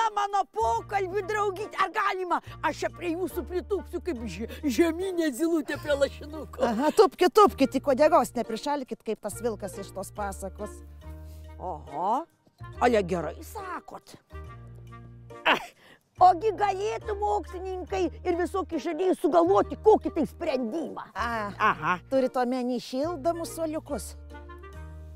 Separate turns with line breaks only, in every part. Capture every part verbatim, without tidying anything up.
Miela mano pokalbių draugyti, ar galima? Aš čia prie jūsų pritūpsiu kaip žeminė zylutė prie lašinuko.
Aha, tupkit, tupkit, tik uodegos neprišalkit kaip tas vilkas iš tos pasakos.
Oho, ale gerai sakot. Ogi galėtų mokslininkai ir visokie žadėjai sugalvoti kokį tai sprendimą.
Aha, turit omeny šildomus suoliukus.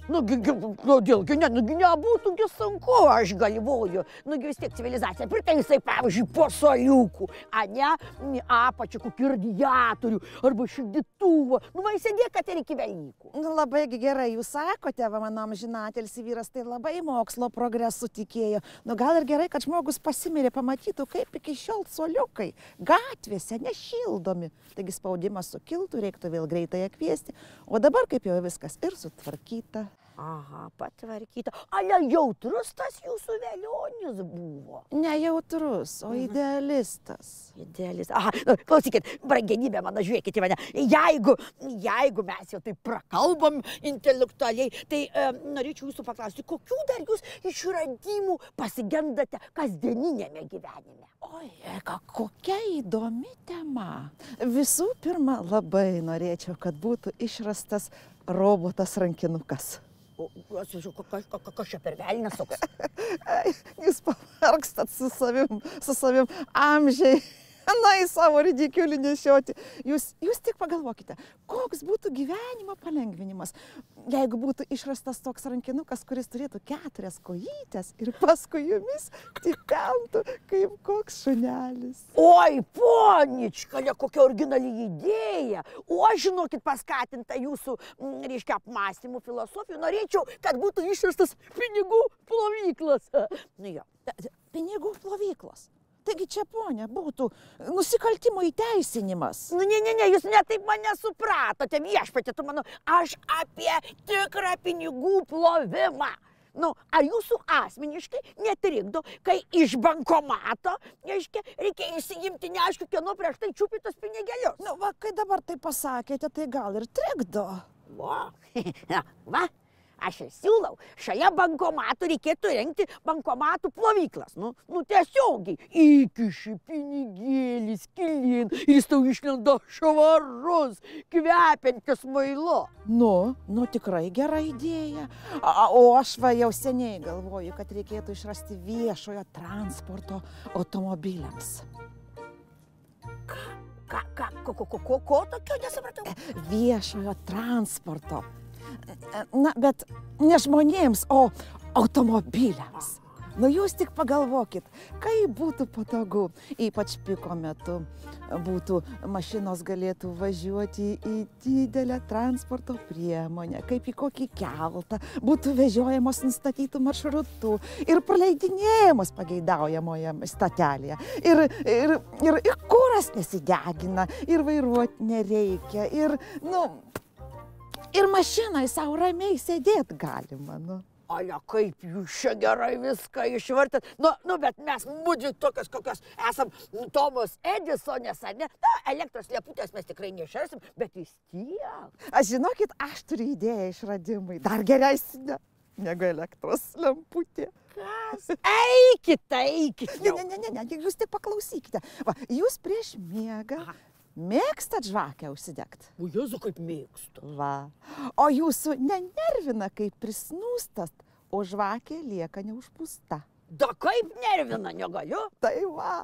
Nugi, kodėlgi ne, nugi nebūtų sunku, aš galvoju. Nugi vis tiek civilizacija pritaisai, pavyzdžiui, po suoliukų, a ne apačią kokį radiatorių arba šildytuvą. Nu, va, įsidėk, kad ir iki Velykų.
Nu, labai gerai, jūs sakote, va, mano amžinatelis vyras tai labai mokslo progresu tikėjo. Nu, gal ir gerai, kad žmogus pasimirė, pamatytų, kaip iki šiol suoliukai gatvėse nešildomi. Taigi spaudimas sukiltų, reiktų vėl greitai kviesti. O dabar, kaip jau viskas ir sutvarkyta.
Aha, patvarkyta. Ale jautrus tas jūsų velionis buvo?
Ne jautrus, o idealistas.
Idealistas. Aha, klausykit, brangenybė mano, žiūrėkit į mane. Jeigu, jeigu mes jau taip prakalbam intelektualiai, tai e, norėčiau jūsų paklausti, kokių dar jūs išradimų pasigendate kasdieninėme gyvenime?
Oi, eka, kokia įdomi tema. Visų pirma, labai norėčiau, kad būtų išrastas robotas rankinukas.
O, kas čia per velnias toks?
Jūs pavargstat su savim, su savim amžiai. Na, į savo ridikiulį nešioti. Jūs, jūs tik pagalvokite, koks būtų gyvenimo palengvinimas, jeigu būtų išrastas toks rankinukas, kuris turėtų keturias kojytes ir paskui jumis tipentų kaip koks šunelis.
Oi, ponička, kokia originali idėja. O aš, žinokit, paskatinta jūsų, reiškia, apmąstymų filosofijų, norėčiau, kad būtų išrastas pinigų plovyklas. Nu jo.
Pinigų plovyklos? Taigi čia, ponia, būtų nusikaltimo įteisinimas.
Nu, ne, ne, ne, jūs ne taip mane supratote, viešpatie, tu manau, aš apie tikrą pinigų plovimą. Nu, ar jūsų asmeniškai netrikdo, kai iš bankomato, reiškia, reikia įsigimti neaišku, kieno prieš tai čiupytos pinigėlius?
Nu, va, kai dabar tai pasakėte, tai gal ir trikdo.
Va, va. Aš ir siūlau, šalia bankomatų reikėtų rengti bankomatų plovyklas. Nu, nu tiesiogiai. Įkiši pinigėlį skylin ir jis tau išlenda švarus, kvepiantis mailu.
Nu, nu tikrai gera idėja. A, o aš va jau seniai galvoju, kad reikėtų išrasti viešojo transporto automobiliams.
Ką? Ką? Ką? Ko, ko, ko, ko, ko tokio nesupratau?
Viešojo transporto. Na, bet ne žmonėms, o automobiliams. Nu, jūs tik pagalvokit, kaip būtų patogu, ypač piko metu, būtų mašinos galėtų važiuoti į didelę transporto priemonę, kaip į kokį keltą, būtų vežiojamos nustatytų maršrutų ir praleidinėjamos pageidaujamoje statelėje. Ir, ir, ir, ir kuras nesidegina, ir vairuoti nereikia, ir, nu... Ir mašinai savo ramiai sėdėt galima, nu.
Ale, kaip jūs čia gerai viską išvartėt. Nu, nu, bet mes mūdžiu tokios, kokios esam Tomas Edisonės, ar ne? Na, elektros leputės mes tikrai nešersim, bet vis tiek.
Aš žinokit, aš turiu idėją išradimui. Dar geresnė negu elektros lemputė.
Kas? Eikit, eikit.
Ne, ne, ne, ne, jūs tik paklausykite. Va, jūs prieš miegą... Aha. Mėgstat žvakę užsidegt?
O Jėzu, kaip mėgstu.
Va. O jūsų nenervina, kaip prisnūstat, o žvakė lieka neužpūsta.
Da kaip nervina, negaliu?
Tai va,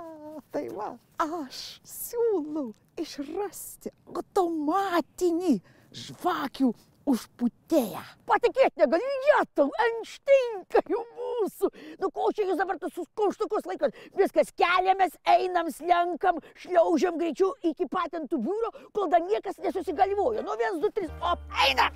tai va. Aš siūlau išrasti automatinį žvakių užpūtėją.
Patikėt negaliu, jėtau, Einšteinka jau mūsų. Nu, ko čia jūs dabar tuos kauštukus laikot? Viskas keliamės, einam, slenkam, šliaužiam greičiau iki patentų biuro, kol dar niekas nesusigalvojo. Nu, viens, du, trys, op, einam.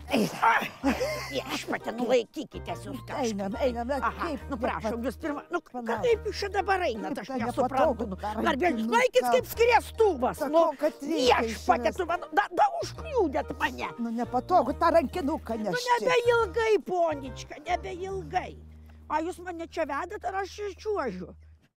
Viešpatie, nu laikykitės jūs kažkaip.
Einam, einam,
kaip? Nu, prašom, jūs pirma, nu, kaip jūs čia dabar einat, aš nesuprantu. Garbėlis, laikys kaip skriestuvas. Nu, viešpatie, tu man, da, da užkliūdėt mane.
Nu, nepatogu tą rankinuką nešti.
Nu, nebeilgai, ponička, nebeilgai. A jūs mane čia vedat, ar aš čiuožiu?